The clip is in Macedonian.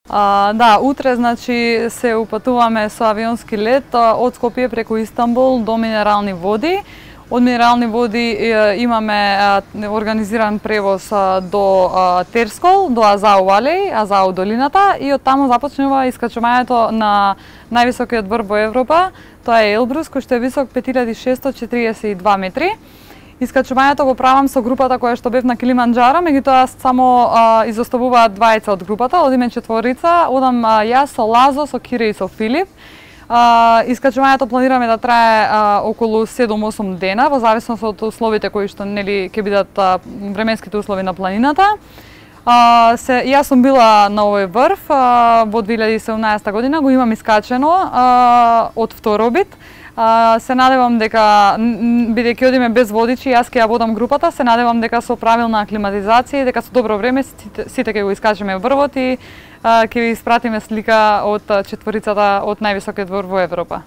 Да, утре значи се упатуваме со авионски лет од Скопје преку Истанбул до Минерални води. Од Минерални води имаме организиран превоз до Терскол, до Азау Алеј, Азау долината, и од таму започнува искачувањето на највисокиот врв во Европа. Тоа е Елбрус, кој што е висок 5642 метри. Искачувањето го правам со групата која што бев на Килиманџаро, меѓутоа само изоставуваат двајца од групата, одиме четворица, одам јас со Лазо, со Кире и со Филип. Искачувањето планираме да трае околу 7-8 дена, во зависност од условите кои што нели ќе бидат временските услови на планината. Јас сум била на овој врв во 2017 година, го имам искачено од второбит. Се надевам дека, бидејќи одиме без водичи, јас ќе ја водам групата, се надевам дека со правилна аклиматизација и дека со добро време сите ќе го искачеме врвот и ќе ви испратиме слика од четворицата од највисокиот врв во Европа.